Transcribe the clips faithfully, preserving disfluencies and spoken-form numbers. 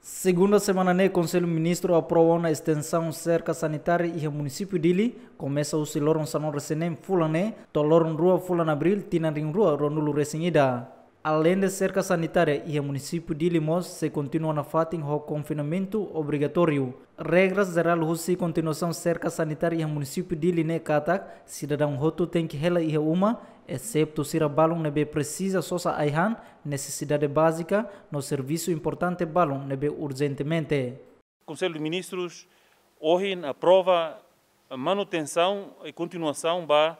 Segunda semana ne'e, Konsellu Ministru aprova ona estensaun serka sanitária iha munisípiu Dili, komesa husi loron sanulu-resin-neen fulan ne'e, to'o loron rua fulan Abríl, tinan rihun rua ruanulu-resin-ida. Aleinde serka sanitária iha munisípiu Dili mós sei kontinua nafatin ho konfinamentu obrigatóriu. Regras jerál husi kontinuasaun serka sanitária iha munisípiu Dili ne'e katak, sidadaun hotu tenke hela iha uma, eseptu sira balun ne'ebé presiza sosa ai-han, nesesidade bázika, no servisu importante balun ne'ebé urjentemente. Konsellu de Ministrus ohin aprova manutensaun i kontinuasaun ba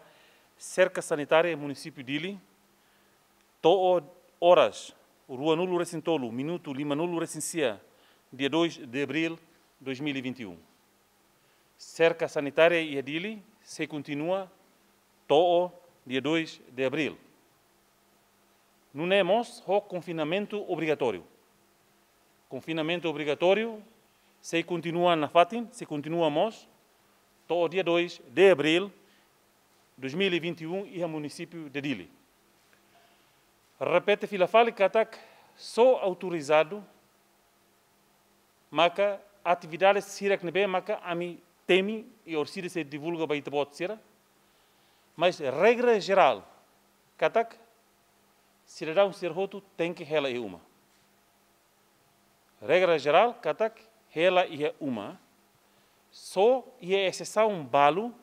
serka sanitária munisípiu Dili, to'o oras ruanulu-resin-tolu minutu limanulu-resin-sia, dia dois de abril dois mil e vinte e um. Serka sanitária iha Dili sei kontinua to'o dia dois de abril. Nune'e mós ho konfinamentu obrigatóriu. Konfinamentu obrigatóriu sei kontinua nafatin, sei kontinua mós to'o dia dois de abril dois mil e vinte e um iha munisípiu de Dili. Repete fila fali katak só autorizadu maka atividade sira ne'ebé maka ami temi i orsida sei divulga ba ita-boot sira. Mas regra jerál katak sidadaun sira hotu tenke hela iha uma. Regra jerál katak hela iha uma. Só iha exesaun balu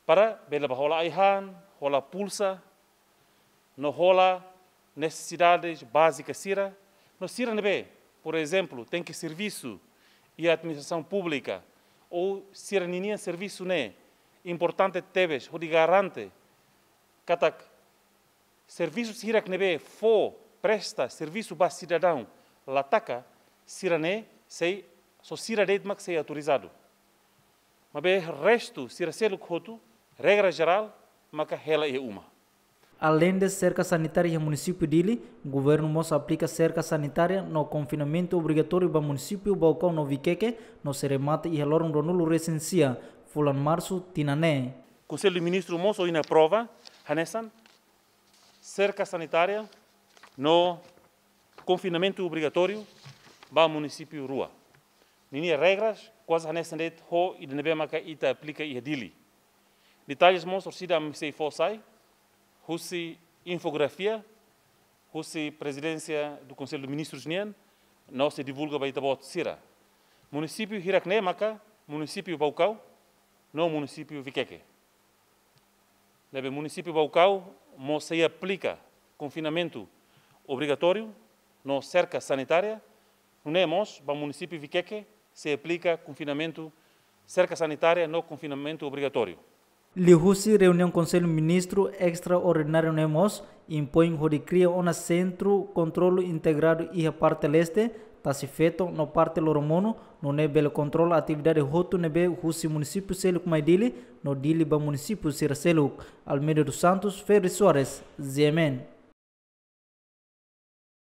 para bele bá hola ai-han, hola pulsa, no hola nesesidades bázika sira, no sira ne'ebé, por ezemplu, tenke servisu iha administrasaun públika, ou sira ninia servisu ne'e importante tebes, hodi garante katak servisu sira ne'ebé fó presta servisu ba sidadaun la taka, sira ne'e sei, só sira de'it mak sei autorizadu. Maibé restu sira seluk hotu, regra jerál maka hela iha uma. Aleinde serka sanitária iha munisípiu Dili, governu mós aplika serka sanitária no konfinamentu obrigatóriu ba munisípiu Baucau no Viqueque, no sei remata iha loron ruanulu-resin-sia fulan Marsu tinan ne'e. Konsellu de Ministrus mós ohin aprova hanesan serka sanitária no konfinamentu obrigatóriu ba munisípiu rua. Ninia regras kuaze hanesan de'it ho ida ne'ebé maka ita aplika iha Dili. Detalles mós orsida ami sei fó sai husi infografia husi Prezidénsia do Konsellu de Ministrus nian, no sei divulga ba ita-boot sira. Munisípiu hirak-ne'e maka munisípiu Baucau no munisípiu Viqueque. Ne'ebé munisípiu Baucau mós sei aplika konfinamentu obrigatóriu no serka sanitária, nune'e mós ba munisípiu Viqueque sei aplika konfinamentu, serka sanitária no konfinamentu obrigatóriu. Liuhusi reuniaun Konsellu Ministru estraordináriu ne'e mós impoin hodi kria ona sentru kontrolu integradu iha parte leste, Tasi Feto no parte Loromonu, nune'e bele kontrola atividade hotu ne'ebé husi munisípiu seluk mai Dili, no Dili ba munisípiu sira seluk. Almeida dos Santos, Ferri Soares, G M N.